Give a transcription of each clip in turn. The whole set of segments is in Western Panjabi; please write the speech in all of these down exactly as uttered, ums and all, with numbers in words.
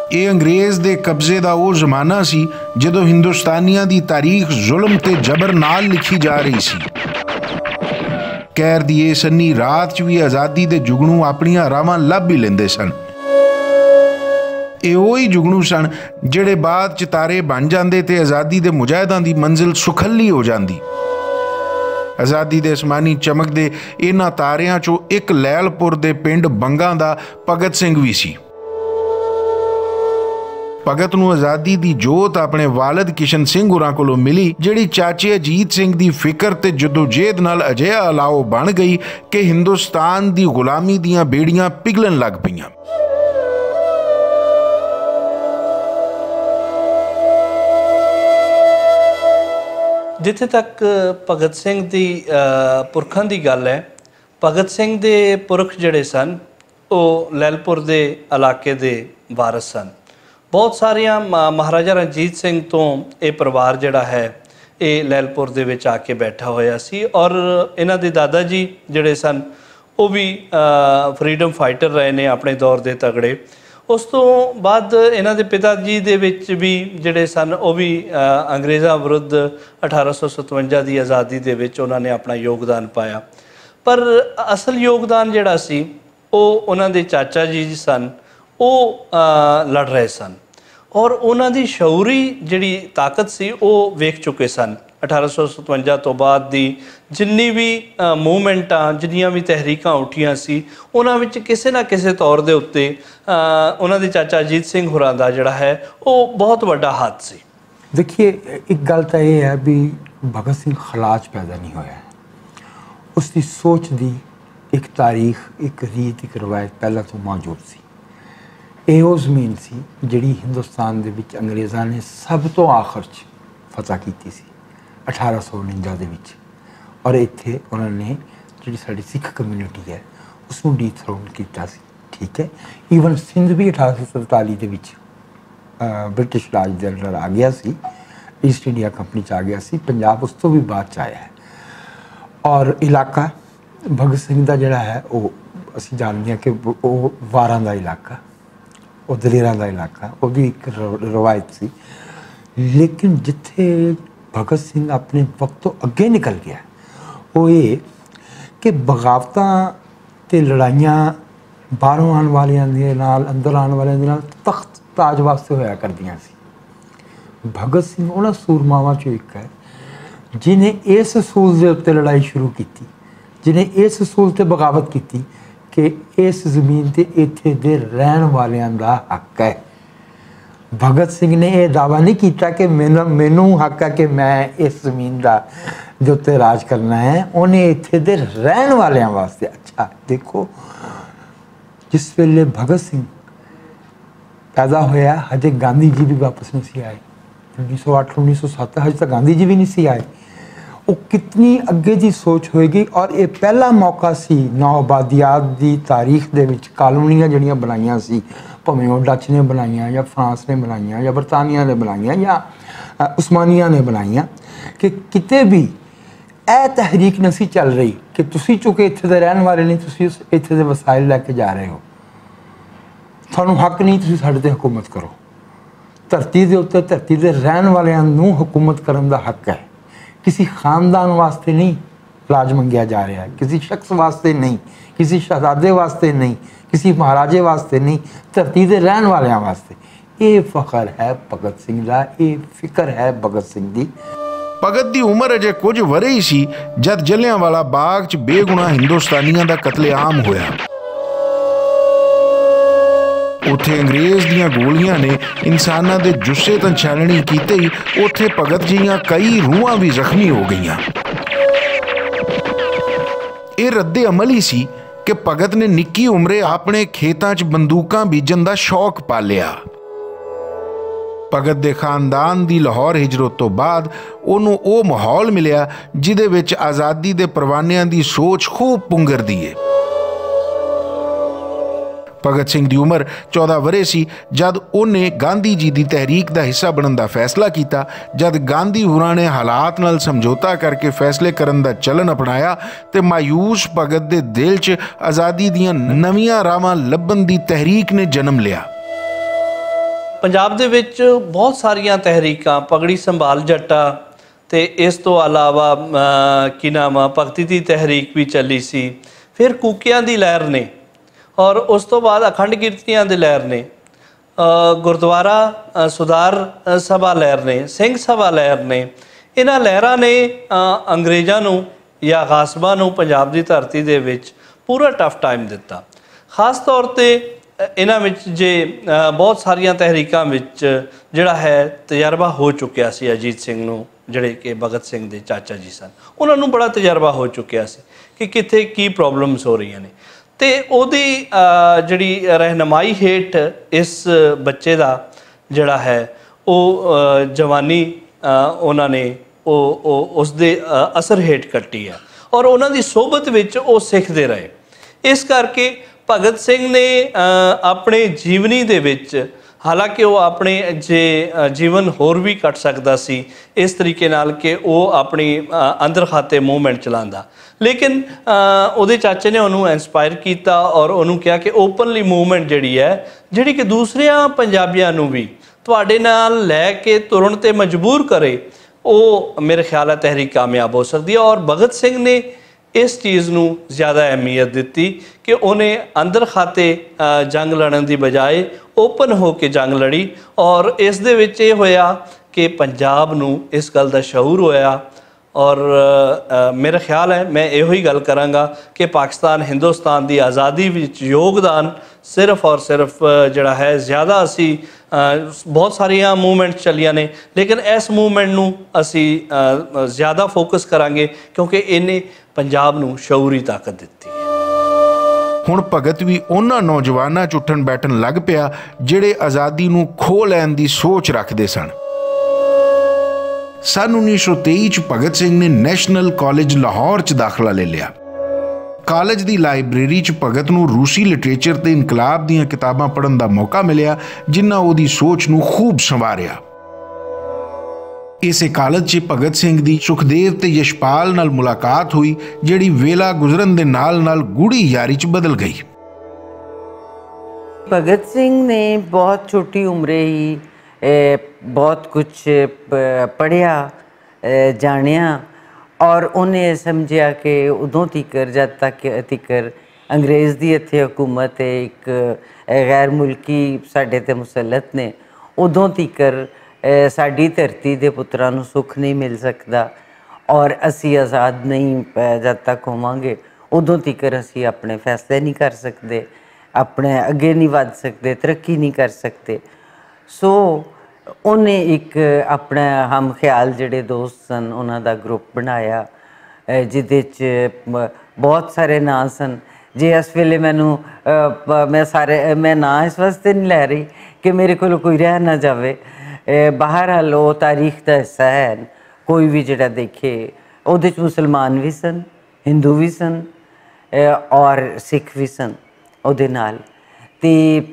ایہہ انگریز دے قبضے دا او زمانہ سی جدوں ہندوستانیاں دی تاریخ ظلم تے جبر نال لکھی جا رہی سی۔ کہر دی ایہہ سنی رات چ وی آزادی دے جگنوں اپنیاں راواں لب وی لیندے سن۔ ایہہ اوہی جگنوں سن جہڑے بعد چ تارے بن جاندے تے آزادی دے مجاہداں دی منزل سکھلی ہو جاندی۔ آزادی دے اسمانی چمک دے انہاں تاریاں چوں اک لیل پور دے پنڈ بنگاں دا پگت سنگھ وی سی۔ پگت نوں آزادی دی جوت اپنے والد کشن سنگھ ہوراں کولوں ملی، جہڑی چاچے اجیت سنگھ دی فکر تے جدوجہد نال اجہا الاؤ بن گئی کہ ہندوستان دی غلامی دیاں بیڑیاں پگھلن لگ پئیاں۔ جتھے تک بھگت سنگھ دی پرکھاں دی گل ہے، بھگت سنگھ دے پرکھ جڑے سن، او لیلپور دے علاقے دے وارث سن۔ بہت ساریاں مہاراجا رنجیت سنگھ توں ایہہ پروار جڑا ہے، ایہہ لیلپور دے وچ آ کے بیٹھا ہویا سی اور انہاں دے دادا جی جڑے سن، او وی فریڈم فائٹر رہے نے اپنے دور دے تگڑے۔ اس توں بعد انہاں دے پتا جی دے وچ وی جڑے سن، او وی انگریزاں ورد اٹھارہ سو ستونجا دی آزادی دے وچ انہاں نے اپنا یوگدان پایا۔ پر اصل یوگدان جڑا سی، او انہاں دے چاچا جی سن، او لڑ رہے سن اور انہاں دی شعوری جڑی طاقت سی، او ویکھ چکے سن۔ اٹھارہ سو ستونجا توں بعد دی جنی وی موومنٹاں، جنیاں وی تحریکاں اٹھیاں سی، انہاں وچ کسے نہ کسے طور دے اتے انہاں دے چاچا اجیت سنگھ ہوراں دا جڑا ہے، او بہت وڈا ہاتھ سی۔ دیکھیے، ایک گل تاں ایہہ ہے بھی بھگت سنگھ خلاج پیدا نہیں ہویا ہے۔ اس دی سوچ دی ایک تاریخ، ایک ریت، ایک روایت پہلا توں موجود سی۔ ایہہ او زمین سی جڑی ہندوستان دے وچ انگریزاں نے سب توں آخر چ فتح کیتی سی، اٹھارہ سو انجا دے وچ۔ اور ایتھے انہاں نے جڑی ساڈی سکھ کمیونٹی ہے، اس نوں ڈی تھرون کیتا سی۔ ٹھیک ہے، ایون سندھ بھی اٹھارہ سو سینتالی دے وچ برٹش راج دے اندر آ گیا سی، ایسٹ انڈیا کمپنی چ آ گیا سی۔ پنجاب اس تو بھی بعد چ آیا ہے۔ اور علاقہ بھگت سنگھ دا جڑا ہے، وہ اسی جانتے ہیں کہ وہ واراں دا علاقہ، وہ دلیراں دا علاقہ، وہ بھی ایک روایت سی۔ لیکن جتھے بھگت سنگھ اپنے وقت تو اگے نکل گیا، وہ یہ کہ بغاوتاں تے لڑائیاں باہروں آن والیاں دے نال، اندر آن والیاں دے نال تخت تاج واسطے ہویا کردیاں سی۔ بھگت سنگھ انہاں سورماواں چوں ایک ہے جنہیں اس اصول دے اُتے لڑائی شروع کیتی، جنہیں اس اصول تے بغاوت کیتی کہ اس زمین تے ایتھے دے رہن والیاں دا حق ہے۔ بھگت سنگھ نے یہ دعویٰ نہیں کیتا کہ مینوں حق ہے کہ میں اس زمین دا جو تے راج کرنا ہے۔ انہیں ایتھے دے رہن والیاں واسطے، اچھا، دیکھو، جس ویلے بھگت سنگھ پیدا ہویا، ہجے گاندھی جی بھی واپس نہیں سی آئے۔ انیس سو اٹھ، انیس سو ست، ہجے تک گاندھی جی بھی نہیں سی آئے۔ وہ کتنی اگے دی سوچ ہوئے گی۔ اور یہ پہلا موقع سی نوآبادیات دی تاریخ دے وچ کالونیاں جڑیاں بنائیاں سی، بھاویں وہ ڈچ نے بنائیاں یا فرانس نے بنائیاں یا برطانیہ نے بنائیاں یا عثمانیہ نے بنائیاں، کہ کتے بھی اے تحریک نہ سی چل رہی کہ تسی چونکہ اتھے دے رہن والے نہیں، تسی اتھے دے وسائل لے کے جا رہے ہو، تھانوں حق نہیں تسی ساڈے تے حکومت کرو۔ دھرتی دے اُتے دھرتی دے رہن والیاں نوں حکومت کرن دا حق ہے۔ کسی خاندان واسطے نہیں راج منگیا جا رہا، کسی شخص واسطے نہیں، کسی شہزادے واسطے نہیں، کسی مہاراجے واسطے نہیں، دھرتی دے رہن والیاں واسطے۔ یہ فخر ہے بھگت سنگھ دا، یہ فکر ہے بھگت سنگھ دی۔ بھگت دی عمر اجے کچھ ورے ہی سی جد جلیاں والا باغ چ بے گناہ ہندوستانیاں دا قتل عام ہویا۔ اتھے انگریز دیاں گولیاں نے انساناں دے جسے تاں چھاننی کیتے ہی اتھے بھگت جیاں کئی روحاں وی زخمی ہو گئیاں۔ اے رد عمل ہی سی کہ بھگت نے نکی عمرے اپنے کھیتاں چ بندوقاں بیجن دا شوق پالیا۔ بھگت دے خاندان دی لاہور ہجرت توں بعد اوہنوں او ماحول ملیا جدے وچ آزادی دے پروانیاں دی سوچ خوب پنگر دی ہے۔ بھگت سنگھ دی عمر چودہ ورے سی جد اوہنے گاندھی جی دی تحریک دا حصہ بنن دا فیصلہ کیتا۔ جد گاندھی ہوراں نے حالات نال سمجھوتا کر کے فیصلے کرن دا چلن اپنایا، تے مایوس بھگت دے دل چ آزادی دیاں نویاں راہواں لبھن دی تحریک نے جنم لیا۔ پنجاب دے وچ بہت ساریاں تحریکاں، پگڑی سنبھال جٹا تے اس توں علاوہ، م، کی نام آ، بھگتی دی تحریک وی چلی سی۔ فیر کوکیاں دی لہر نے، اور اس توں بعد اکھنڈ کیرتیاں دی لہر نے، گردوارا سدھار سبھا لہر نے، سنگھ سبھا لہر نے، انہاں لہراں نے انگریزاں نوں یا غاصباں نوں پنجاب دی دھرتی دے وچ پورا ٹف ٹائم دتا۔ خاص طور تے انہاں وچ جے بہت ساریاں تحریکاں وچ جڑا ہے، تجربہ ہو چکیا سی اجیت سنگھ نوں، جڑے کہ بھگت سنگھ دے چاچا جی سن، انہاں نوں بڑا تجربہ ہو چکیا سی کہ کتھے کی پرابلمز ہو رہیاں نے۔ تے اوہدی جڑی رہنمائی ہیٹھ اس بچے دا جڑا ہے، او جوانی انہاں نے اس دے اثر ہیٹھ کٹی ہے، اور انہاں دی صحبت وچ او سکھدے رہے۔ اس کر کے بھگت سنگھ نے اپنے جیونی دے وچ، حالانکہ او اپنے جیون ہور وی کٹ سکدا سی اس طریقے نال کہ او اپنی اندر خاتے موومنٹ چلاندا، لیکن اوہدے چاچے نے انہوں انسپائر کیتا اور انہوں کہا کہ اوپنلی موومنٹ جڑی ہے، جڑی کہ دوسریاں پنجابیاں نوں وی تہاڈے نال لے کے ترن تے مجبور کرے، او میرے خیال ہے تحریک کامیاب ہو سکدی ہے۔ اور بھگت سنگھ نے اس چیز نوں زیادہ اہمیت دتی کہ انہیں اندر خاتے جنگ لڑن دی بجائے اوپن ہو کے جنگ لڑی، اور اس دے وچ یہ ہویا کہ پنجاب نوں اس گل دا شعور ہویا۔ اور میرا خیال ہے، میں ایہو ہی گل کراں گا کہ پاکستان ہندوستان دی آزادی وچ یوگدان صرف اور صرف جڑا ہے، زیادہ اسی بہت ساریاں موومنٹ چلیاں نے، لیکن اس موومنٹ نوں اسی زیادہ فوکس کراں گے، کیونکہ انہیں پنجاب نوں شعوری طاقت دتی۔ ہن بھگت وی انہاں نوجواناں چ اٹھن بیٹھن لگ پیا، جڑے آزادی نوں کھو لین دی سوچ رکھدے سن۔ سن انیس سو تئی چ بھگت سنگھ نے نیشنل کالج لاہور چ داخلہ لے لیا۔ کالج دی لائبریری چ بھگت نوں روسی لٹریچر تے انقلاب دیاں کتاباں پڑھن دا موقع ملیا، جنہاں اوہدی سوچ نوں خوب سنواریا۔ اسے کالج چ بھگت سنگھ دی سکھدیو تے یشپال نال ملاقات ہوئی، جڑی ویلا گزرن دے نال نال گوڑی یاری چ بدل گئی۔ بھگت سنگھ نے بہت چھوٹی عمرے ہی بہت کچھ پڑھیا، جانیا، اور انہیں سمجھیا کہ ادوں تیکر جد تک تیکر انگریز دی اتھے حکومت ہے، ایک غیر ملکی ساڈے تے مسلط نے، ادوں تیکر ساڈی دھرتی دے پتراں نوں سکھ نہیں مل سکدا، اور اسی آزاد نہیں جد تک ہوواں گے، ادوں تیکر اسی اپنے فیصلے نہیں کر سکدے، اپنے اگے نہیں ودھ سکدے، ترقی نہیں کر سکدے۔ سو انہیں اک اپنا ہم خیال جڑے دوست سن انہاں دا گروپ بنایا، جدے چ بہت سارے ناں سن۔ جے اس ویلے مینوں میں ناں اس واسطے نہیں لے رہی کہ میرے کولوں کوئی رہ نہ جاوے۔ بہرحال او تاریخ دا حصہ ہے، کوئی وی جڑا دیکھے، اوہدے چ مسلمان وی سن، ہندو وی سن، اور سکھ وی سن۔ اوہدے نال تے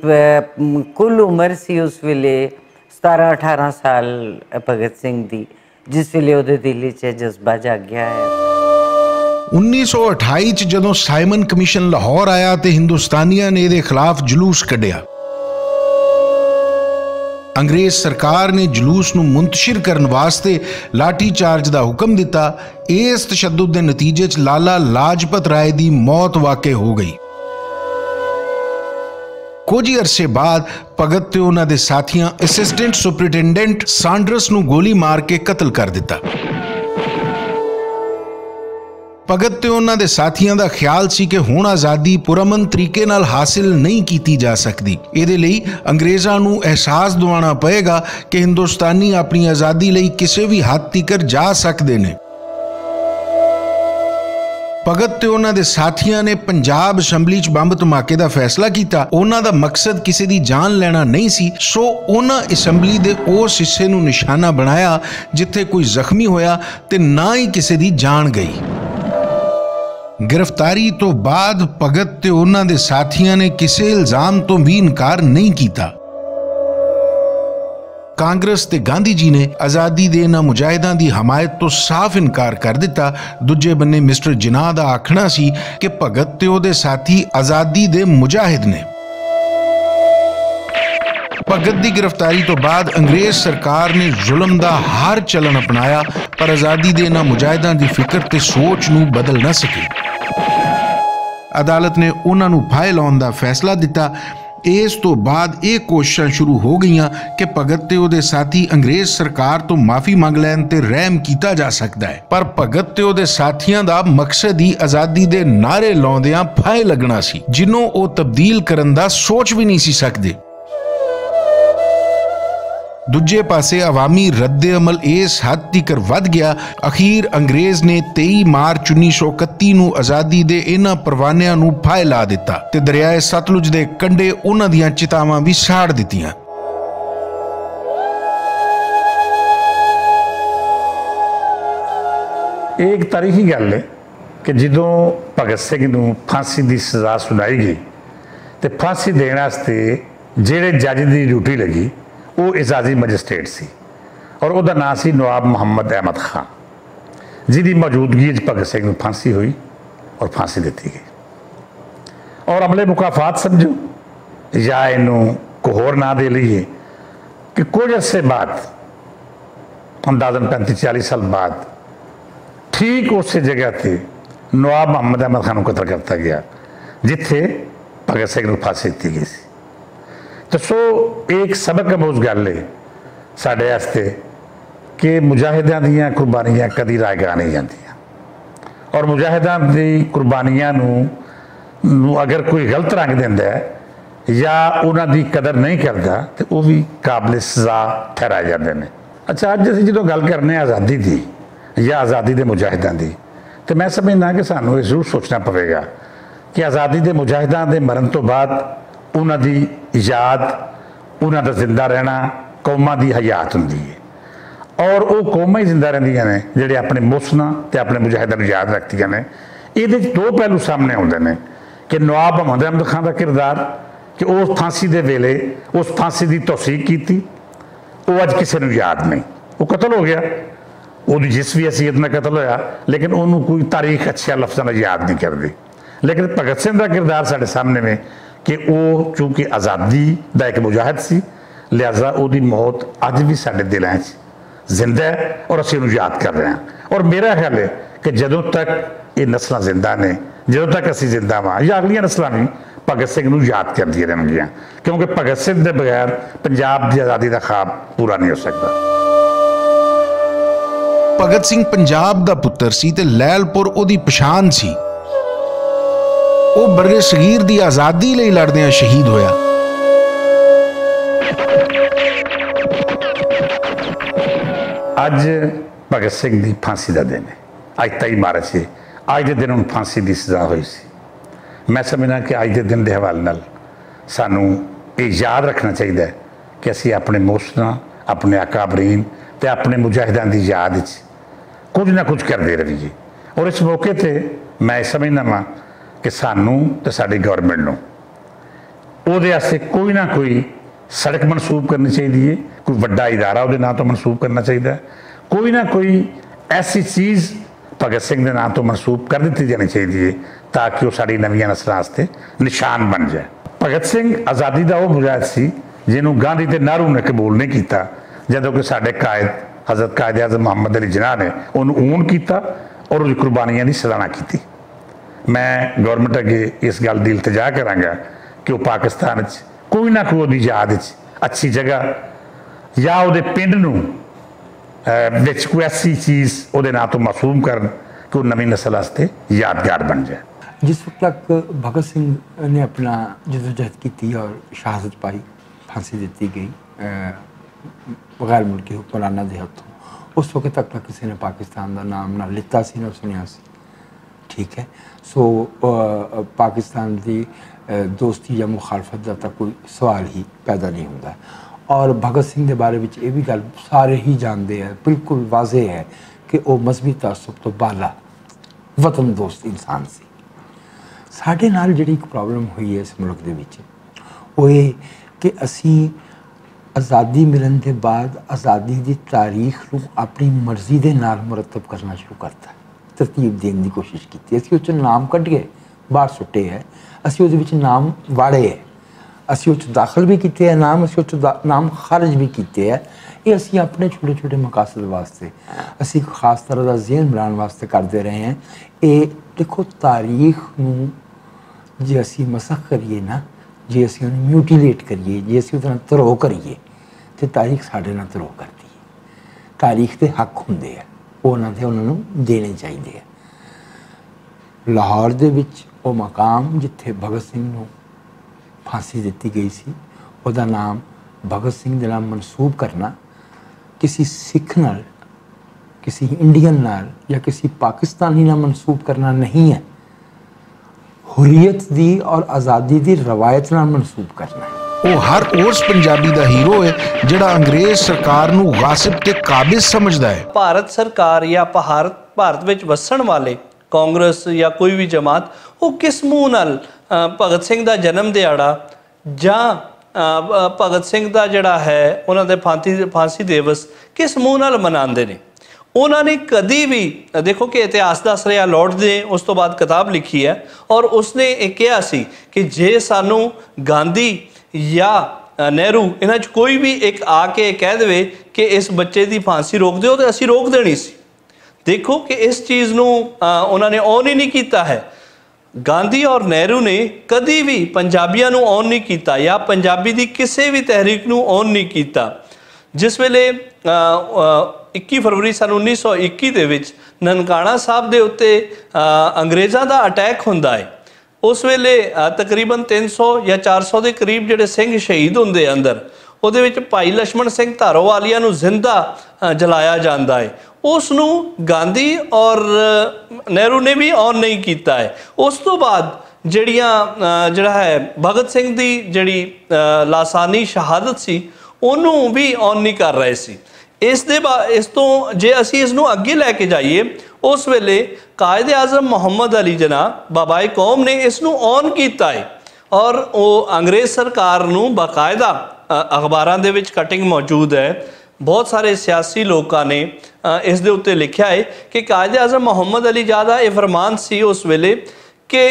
کل عمر سی اس ویلے ستارہ اٹھارہ سال، بھگت سنگھ دی، جس ویلے اوہدے دل وچ جذبہ جاگیا ہے۔ انیس سو اٹھائی چ جدوں سائمن کمیشن لاہور آیا تے ہندوستانیاں نے ایہدے خلاف جلوس کڈیا۔ انگریز سرکار نے جلوس نوں منتشر کرن واسطے لاٹھی چارج دا حکم دتا۔ اس تشدد دے نتیجے چ لالا لاجپت رائے دی موت واقع ہو گئی۔ کچھ عرصے بعد بھگت تے انہاں دے ساتھیاں اسسٹنٹ سپرنٹنڈنٹ سانڈرس نوں گولی مار کے قتل کر دتا۔ بھگت تے انہاں دے ساتھیاں دا خیال سی کہ ہن آزادی پرامن طریقے نال حاصل نہیں کیتی جا سکدی۔ ایہدے لئی انگریزاں نوں احساس دوانا پئے گا کہ ہندوستانی اپنی آزادی لئی کسے وی حد تیکر جا سکدے نے۔ بھگت تے انہاں دے ساتھیاں نے پنجاب اسمبلی چ بمب دھماکے دا فیصلہ کیتا۔ انہاں دا مقصد کسے دی جان لینا نہیں سی، سو انہاں اسمبلی دے اس حصے نوں نشانہ بنایا جتھے کوئی زخمی ہویا تے نہ ہی کسے دی جان گئی۔ گرفتاری توں بعد بھگت تے انہاں دے ساتھیاں نے کسے الزام توں وی انکار نہیں کیتا۔ کانگریس تے گاندھی جی نے آزادی دے انہاں مجاہداں دی حمایت توں صاف انکار کر دتا۔ دوجے بننے مسٹر جناح دا آکھنا سی کہ بھگت تے اوہدے ساتھی آزادی دے مجاہد نے۔ اگت دی گرفتاری توں بعد انگریز سرکار نے ظلم دا ہر چلن اپنایا، پر آزادی دے انہاں مجاہداں دی فکر تے سوچ نوں بدل نہ سکی۔ عدالت نے انہاں نوں پھائے لاؤن دا فیصلہ دتا۔ اس توں بعد ایہہ کوششاں شروع ہو گئیاں کہ بھگت تے اوہدے ساتھی انگریز سرکار توں معافی منگ لین تے رحم کیتا جا سکدا ہے، پر بھگت تے اوہدے ساتھیاں دا مقصد ہی آزادی دے نعرے لاؤندیاں پھائے لگنا سی، جنوں او تبدیل کرن دا سوچ وی نہیں سی سکدے۔ دوجے پاسے عوامی رد عمل اس حد تیکر ودھ گیا، اخیر انگریز نے تئی مارچ انیس سو اکتی نوں آزادی دے انہاں پروانیاں نوں پھائے لا دتا تے دریائے ستلج دے کنڈے انہاں دیاں چتاواں وی ساڑ دتیاں۔ ایک تاریخی گل ہے کہ جدوں بھگت سنگھ نوں پھانسی دی سزا سنائی گئی تے پھانسی دین واسطے جہڑے جج دی ڈیوٹی لگی، وہ اعزازی مجسٹریٹ سی اور اُس دا ناں سی نواب محمد احمد خان، جس دی موجودگی وچ بھگت سنگھ نوں پھانسی ہوئی اور پھانسی دتی گئی۔ اور عملے مکافات سمجھو یا اینوں کوئی ہور ناں دے لئیے کہ کچھ عرصے بعد، اندازاً پینتی چالی سال بعد، ٹھیک اسی جگہ تے نواب محمد احمد خان نوں قتل کرتا گیا، جتھے بھگت سنگھ نوں پھانسی دتی گئی سی۔ تو سو، ایک سبق آموز گل ہے ساڈے واسطے کہ مجاہداں دیاں قربانیاں کدی رائے گاہ نہیں جاندیاں، اور مجاہداں دی قربانیاں نوں، نوں اگر کوئی غلط رنگ دیندا ہے یا انہاں دی قدر نہیں کردا، تے او وی قابل سزا ٹھہرائے جاندے نے۔ اچھا، اج اسی جدوں گل کرنے آزادی دی یا آزادی دے مجاہداں دی، تے میں سمجھنا کہ سانوں یہ ضرور سوچنا پوے گا کہ آزادی دے مجاہداں دے مرن تو بعد انہاں دی یاد، انہاں دا زندہ رہنا قوماں دی حیات ہوندی ہے، اور او قوماں ہی زندہ رہندیاں نے جڑے اپنے محسناں تے اپنے مجاہداں نوں یاد رکھدیاں نے۔ ایہدے وچ دو پہلو سامنے آوندے نے کہ نواب محمد احمد خان دا کردار کہ او پھانسی دے ویلے اس پھانسی دی توثیق کیتی، او اج کسے نوں یاد نہیں۔ او قتل ہو گیا، اوہدی جس وی حیثیت نال قتل ہویا، لیکن اوہنوں کوئی تاریخ اچھے لفظاں نال یاد نہیں کردی۔ لیکن بھگت سنگھ دا کردار ساڈے سامنے وے کہ او چونکہ آزادی دا ایک مجاہد سی، لہذا اوہدی موت اج وی ساڈے دلاں وچ زندہ ہے اور اسی اوہنوں یاد کر رہے ہیں۔ اور میرا خیال ہے کہ جدوں تک یہ نسلاں زندہ نے، جدوں تک اسی زندہ واں یا اگلیاں نسلاں وی، بھگت سنگھ نوں یاد کردیاں رہن گیاں، کیونکہ بھگت سنگھ دے بغیر پنجاب دی آزادی دا خواب پورا نہیں ہو سکدا۔ بھگت سنگھ پنجاب دا پتر سی تے لیل پور اوہدی پشان سی۔ او برے صغیر دی آزادی لئی لڑدیاں شہید ہویا۔ اج بھگت سنگھ دی پھانسی دا دن ہے۔ اج تئی مارچ ہے۔ اج دے دن انہوں پھانسی دی سزا ہوئی سی۔ میں سمجھنا کہ اج دے دن دے حوالے نال سانوں یہ یاد رکھنا چاہیدا ہے کہ اسی اپنے محسناں، اپنے اکابرین تے اپنے مجاہداں دی یاد وچ کچھ نہ کچھ کردے رہیے۔ اور اس موقع تے میں سمجھنا واں کہ سانوں تے ساڈی گورنمنٹ نوں اوہدے واسطے کوئی نہ کوئی سڑک منسوب کرنی چاہیدی ہے، کوئی وڈا ادارہ اوہدے ناں توں منسوب کرنا چاہیدا ہے، کوئی نہ کوئی ایسی چیز بھگت سنگھ دے ناں توں منسوب کر دتی جانی چاہیدی ہے، تاکہ وہ ساڈی نویاں نسلاں واسطے نشان بن جائے۔ بھگت سنگھ آزادی دا وہ مجاہد سی جنہوں گاندھی تے نہرو نے قبول نہیں کیتا، جدوں کہ ساڈے قائد حضرت قائد اعظم محمد علی جناح نے انہوں اون کیتا اور اس قربانیاں دی سراہنا کیتی۔ میں گورنمنٹ اگے اس گل دی التجا کراں گا کہ وہ پاکستان وچ کوئی نہ کوئی اودی یاد وچ اچھی جگہ یا اودے پنڈ نوں، اے، وچ کوئی ایسی چیز اودے ناں تو معصوم کرن کہ وہ نویں نسل واسطے یادگار بن جائے۔ جس وقت تک بھگت سنگھ نے اپنا جدوجہد کی تھی اور شہادت پائی، پھانسی دیتی گئی، اے، غیر ملکی حکمرانہ دے ہاتھوں، اس وقت تک نہ کسی نے پاکستان دا نام نہ لیتا سی، نہ سنیا سی۔ ٹھیک ہے۔ سو، آ، پاکستان دی، آ، دوستی یا مخالفت دا تاں کوئی سوال ہی پیدا نہیں ہوندا۔ اور بھگت سنگھ دے بارے وچ یہ بھی گل سارے ہی جانتے ہیں، بالکل واضح ہے کہ وہ مذہبی تعصب تو بالا وطن دوست انسان سی۔ ساڈے نال جڑی ایک پرابلم ہوئی ہے اس ملک دے وچ، وہ یہ کہ اسی آزادی ملن دے بعد آزادی دی تاریخ نوں اپنی مرضی دے نال مرتب کرنا شروع کرتا، ترتیب دین دی کوشش کیتی۔ اسی اس چ نام کڈ کے باہر سٹے ہے، اسی اس وچ نام واڑے ہے۔ اسی اتھ داخل وی کیتے اے نام اسی اتھ نام خارج وی کیتے اے۔ اے اسی اپنے چھوٹے چھوٹے مقاصد واسطے اسی خاص طرح دا ذہن بنان واسطے کردے رہے ہیں۔ اے دیکھو، تاریخ نوں جے اسی مسخ کریے نا، جے اسی انہوں میوٹیلیٹ کریے، جے اسی اتنا تروہ کریے، تے تاریخ ساڈے نال تروہ کردی ہے۔ تاریخ دے حق ہوندے ہیں، او انہاں دے انہاں نوں دینے چاہیدے ہیں۔ لاہور دے وچ او مقام جتھے بھگت سنگھ نوں پھانسی دتی گئی سی، اوہدا نام بھگت سنگھ دے نال منسوب کرنا کسی سکھ نال، کسی انڈین نال یا کسی پاکستانی نال منسوب کرنا نہیں ہے۔ حریت دی اور آزادی دی روایت نال منسوب کرنا ہے۔ او ہر اس پنجابی دا ہیرو ہے جڑا انگریز سرکار نوں غاصب تے قابض سمجھدا ہے۔ بھارت سرکار یا بھارت وچ وسن والے کانگریس یا کوئی وی جماعت، او کس منہ نال بھگت سنگھ دا جنم دیہاڑا جاں بھگت سنگھ دا جڑا ہے انہاں دے پھانسی دیوس کس منہ نال مناندے نے؟ انہاں نے کدی وی، دیکھو کہ اتہاس دا سریا لوٹ دے اس توں بعد کتاب لکھی ہے، اور اس نے ایہہ کہیا سی کہ جے سانوں گاندھی یا نہرو انہاں چ کوئی وی اک آ کے کہہ دوے کہ اس بچے دی پھانسی روک دیو تے اسی روک دینی سی۔ دیکھو کہ اس چیز نوں انہاں نے اون ہی نہیں کیتا ہے۔ گاندھی اور نہرو نے کدی وی پنجابیاں نوں اون نہیں کیتا یا پنجابی دی کسے وی تحریک نوں اون نہیں کیتا۔ جس ویلے اکی فروری سن انیس سو اکی دے وچ ننکانہ صاحب دے اتے انگریزاں دا اٹیک ہوندا ہے، اس ویلے تقریبا تین سو یا چار سو دے قریب جیہڑے سنگھ شہید ہوندے اندر، اوہدے وچ بھائی لشمن سنگھ تارو والیا نوں زندہ جلایا جاندا ہے۔ اس نوں گاندھی اور نہرو نے وی اون نہیں کیتا ہے۔ اس توں بعد جیہڑیاں جیہڑا ہے بھگت سنگھ دی جیہڑی لاسانی شہادت سی، انہوں وی اون نہیں کر رہے سی۔ اس دے بعد اس توں جے اسی اس نوں اگے لے کے جائیے، اس ویلے قائد اعظم محمد علی جناح بابائے قوم نے اس نوں اون کیتا ہے، اور او انگریز سرکار نوں باقاعدہ اخباراں دے وچ کٹنگ موجود ہے۔ بہت سارے سیاسی لوکاں نے اس دے اتے لکھیا ہے کہ قائد اعظم محمد علی جاہ دا ایہہ فرمان سی اس ویلے کہ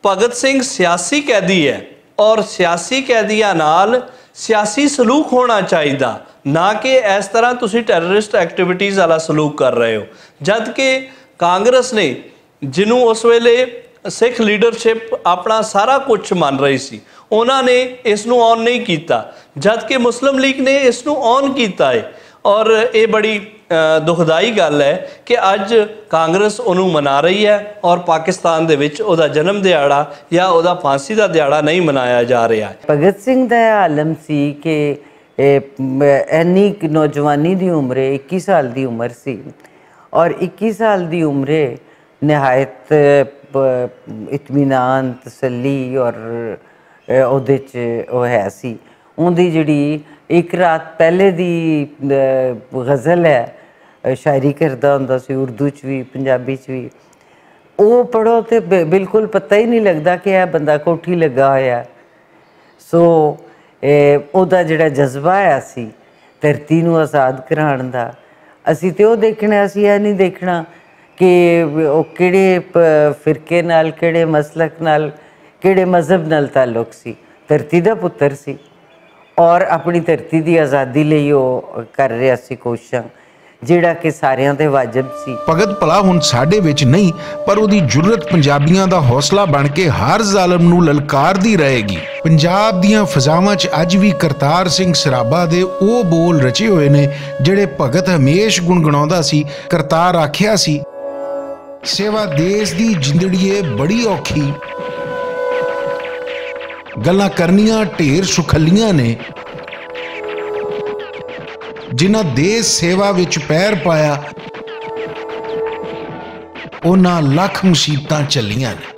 بھگت سنگھ سیاسی قیدی ہے، اور سیاسی قیدیاں نال سیاسی سلوک ہونا چاہیدا، نہ کہ اس طرح تسی ٹیررسٹ ایکٹیویٹیز والا سلوک کر رہے ہو۔ جد کہ کانگریس نے جنوں اس ویلے سکھ لیڈرشپ اپنا سارا کچھ من رہی سی، انہاں نے اس نوں آن نہیں کیتا، جد کہ مسلم لیگ نے اس نوں آن کیتا ہے۔ اور ایہہ بڑی دکھدائی گل ہے کہ اج کانگریس انہوں منا رہی ہے اور پاکستان دے وچ اوہدا جنم دیہاڑا یا اوہدا پھانسی دا دیہاڑا نہیں منایا جا رہا ہے۔ بھگت سنگھ دا ایہہ عالم سی کہ اینی نوجوانی دی عمر ہے، اکی سال دی عمر سی، اور اکی سال دی عمر ہے، نہایت اطمینان تسلی اور اوہدے چ او ہے سی۔ اوہدی جیہڑی اک رات پہلے دی غزل ہے، شاعری کردا ہوندا سی اردو چ وی پنجابی چ وی، او پڑھو تے بالکل پتہ ہی نہیں لگدا کہ ایہہ بندہ کوٹھی لگا ہویا۔ سو اوہدا جیہڑا جذبہ آیا سی دھرتی نوں آزاد کران دا، اسی تے او دیکھنا اسی ایہہ نہیں دیکھنا کہ او کیہڑے فرقے نال کیہڑے مسلک نال کیہڑے مذہب نال تعلق سی۔ دھرتی دا پتر سی، اور اپنی دھرتی دی آزادی لئی او کر رہیا سی کوششاں، جیہڑا کہ ساریاں تے واجب سی۔ پگت پلا ہن ساڈے وچ نہیں، پر اوہدی جرت پنجابیاں دا حوصلہ بن کے ہر ظالم نوں للکار دی رہے گی۔ پنجاب دیاں فضاواں چ اج وی کرتار سنگھ سرابا دے او بول رچے ہوئے نے، جیہڑے پگت ہمیش گنگناؤندا سی۔ کرتار آکھیا سی، سیوا دیس دی جندڑیے بڑی اوکھی، گلاں کرنیاں ڈھیر سکھلیاں نے۔ جنہاں دیس سیوا وچ پیر پایا، انہاں لکھ مصیبتاں چلیاں نے۔